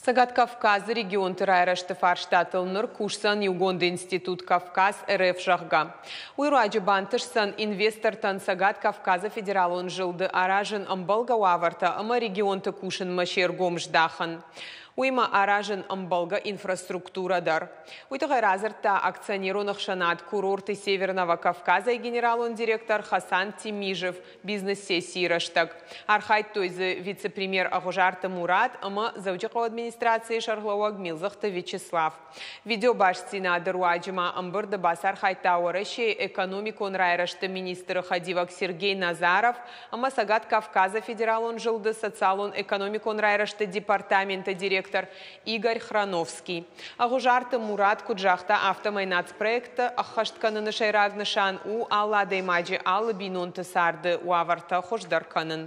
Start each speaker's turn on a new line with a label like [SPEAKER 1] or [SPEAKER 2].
[SPEAKER 1] Цӕгат Кавказы регионты райрӕзты фарстатыл ныр кусдзӕн иугонд институт Кавказ РФ, зӕгъгӕ. Уый руаджы бантысдзӕн инвестортӕн Цӕгат Кавказы федералон зылды аразын ӕмбӕлгӕ уавӕртӕ ӕмӕ регионты кусынмӕ се ргом здахын. Уыимӕ аразын ӕмбӕлгӕ инфраструктурӕ дӕр. Уый тыххӕй радзырдта акционерон ӕхсӕнад Курорты Северного Кавказа-йы генералон директор Хасан Тимижев бизнес-сессийы рӕстӕг. Архайдтой дзы вице-премьер Ӕгъуызарты Мурат ӕмӕ Дзӕуджыхъӕуы администрацийы сӕргълӕууӕг Милдзыхты Вячеслав. Видеобастдзинады руаджы ма ӕмбырды бацархайдта Уӕрӕсейы экономикон райрӕзты министры хӕдивӕг Сергей Назаров ӕмӕ Цӕгат Кавказы федералон зылды социалон-экономикон райрӕзты департаменты директор Игорь Храновский. Ӕгъуызарты Мурат куыд загъта, афтӕмӕй нацпроекттӕ ӕххӕст кӕныны сӕйраг нысан у алы адӕймаджы, алы бинонты царды уавӕртӕ хуыздӕр кӕнын.